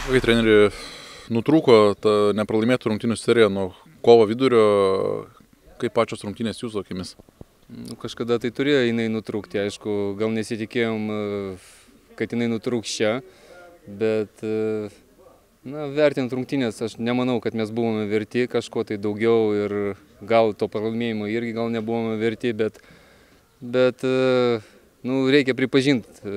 Kai treneri nutrūko ta nepralaimėtų rungtynių serija nuo kovo vidurio, kaip pačios rungtynės jūsų akimis? Kažkada tai turėjo jinai nutrūkti, aišku, gal nesitikėjom, kad jinai nutrūks čia, bet vertinant rungtynės, aš nemanau, kad mes buvome verti kažko tai daugiau ir gal to pralaimėjimo irgi gal nebuvome verti, bet reikia pripažinti,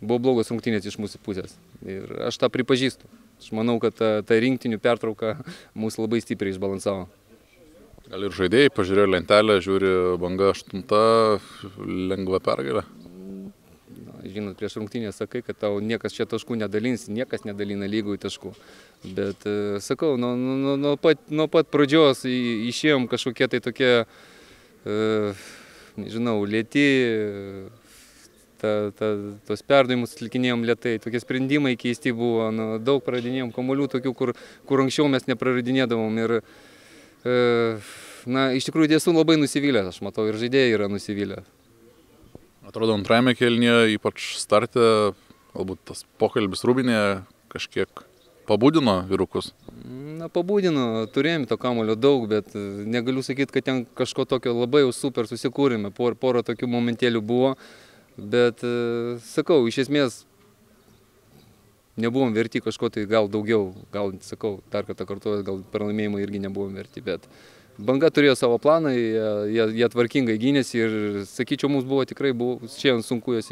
buvo blogos rungtynės iš mūsų pusės ir aš tą pripažįstu. Aš manau, kad ta rinktinių pertrauka mūsų labai stipriai išbalansavo. Gal ir žaidėjai pažiūrėjo lentelę, žiūri Banga 8, lengva pergalė? Žinot, prieš rungtynę sakai, kad tau niekas čia taškų nedalins, niekas nedalina lygų į taškų. Bet sakau, nuo pat pradžios išėjom kažkokie tai tokie, nežinau, lėti, tos perdavimus atlikinėjom lėtai, tokie sprendimai keisti buvo, daug praradinėjom kamuolių tokių, kur anksčiau mes nepraradinėdavom. Ir iš tikrųjų esu labai nusivylęs, aš matau, ir žaidėjai yra nusivylę. Atrodo, antrajame kėlinyje, ypač starte, galbūt tas pokalbis rūbinėje kažkiek pabudino vyrukus? Pabudino, turėjome to kamuolio daug, bet negaliu sakyti, kad ten kažko tokio labai jau super susikūrėme, porą tokių momentėlių buvo, bet sakau, iš esmės nebuvom verti kažko tai gal daugiau, gal, sakau, dar kartą kartuoju, gal pralaimėjimo irgi nebuvom verti, bet Banga turėjo savo planą, jie tvarkingai gynėsi ir, sakyčiau, mums buvo tikrai šiandien sunku juos